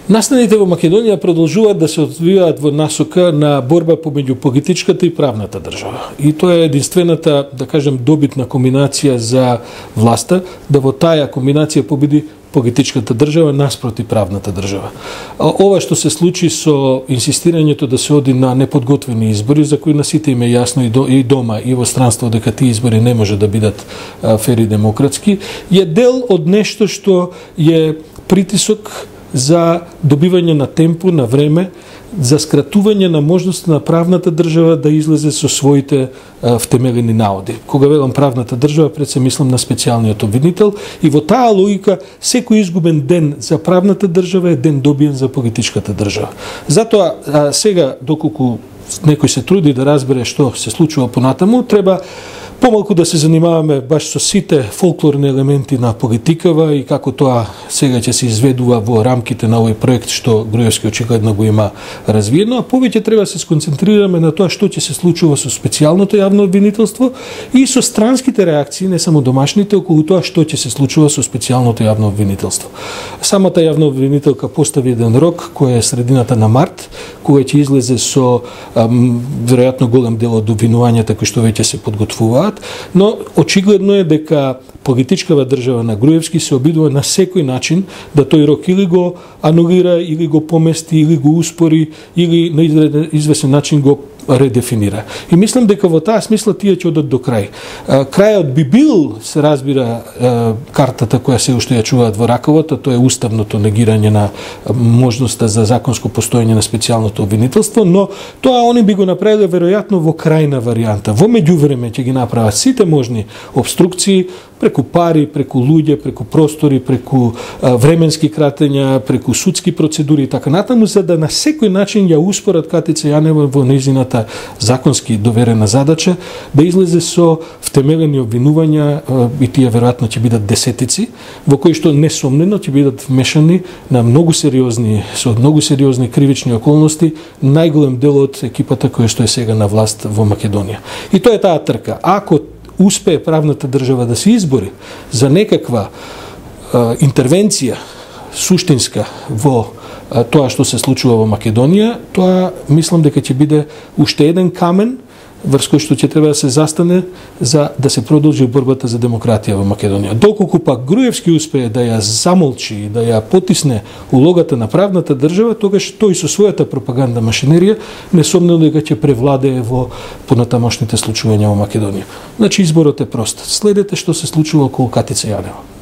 Настаните во Македонија продолжуваат да се одвиваат во насока на борба помеѓу политичката и правната држава. И тоа е единствената, да кажем, добитна комбинација за власта, да во таа комбинација победи политичката држава наспроти правната држава. Ова што се случи со инсистирањето да се оди на неподготвени избори, за кои на сите им е јасно и дома и во странство дека тие избори не може да бидат фер и демократски, е дел од нешто што е притисок за добивање на темпо, на време, за скратување на можност на правната држава да излезе со своите втемелени наоди. Кога велам правната држава, пред се мислам на специјалниот обвинител, и во таа логика секој изгубен ден за правната држава е ден добиен за политичката држава. Затоа сега, доколку некој се труди да разбере што се случува понатаму, треба помалку да се занимаваме баш со сите фолклорни елементи на политикава и како тоа сега ќе се изведува во рамките на овој проект што Груевски очигледно го има развиено, а повеќе треба да се сконцентрираме на тоа што ќе се случува со специјалното јавно обвинителство и со странските реакции, не само домашните, околу тоа што ќе се случува со специјалното јавно обвинителство. Самата јавна обвинителка постави еден рок кој е средината на март, кога ќе излезе со веројатно голем дел од обвинувањата кои што веќе се подготвуваат, но очигледно е дека политичкава држава на Груевски се обидува на секој начин да тој рок или го анулира, или го помести, или го успори, или на известен начин го редефинира. И мислам дека во таа смисла тие ќе одат до крај. Крајот би бил, се разбира, картата која се уште ја чуваат во раковата, тоа е уставното негирање на можноста за законско постоење на специјалното обвинителство, но тоа они би го направиле веројатно во крајна варијанта. Во меѓувреме ќе ги направат сите можни обструкции, преку пари, преку луѓе, преку простори, преку временски кратења, преку судски процедури и така натаму, за да на секој начин ја успорат Катица Јанева во нејзината законски доверена задача да излезе со втемелени обвинувања, и тие веројатно ќе бидат десетици, во кои што несомнено ќе бидат вмешани на со многу сериозни кривични околности најголем дел од екипата која што е сега на власт во Македонија. И тоа е таа трка. Ако успее правната држава да се избори за некаква интервенција суштинска во тоа што се случува во Македонија, тоа мислам дека ќе биде уште еден камен врз кој што ќе треба да се застане за да се продолжи борбата за демократија во Македонија. Доколку пак Груевски успее да ја замолчи и да ја потисне улогата на правната држава, тогаш тој со својата пропаганда машинерија несомнено дека ќе превладее во понатамошните случувања во Македонија. Значи изборот е прост. Следете што се случува околу Катица Јанева.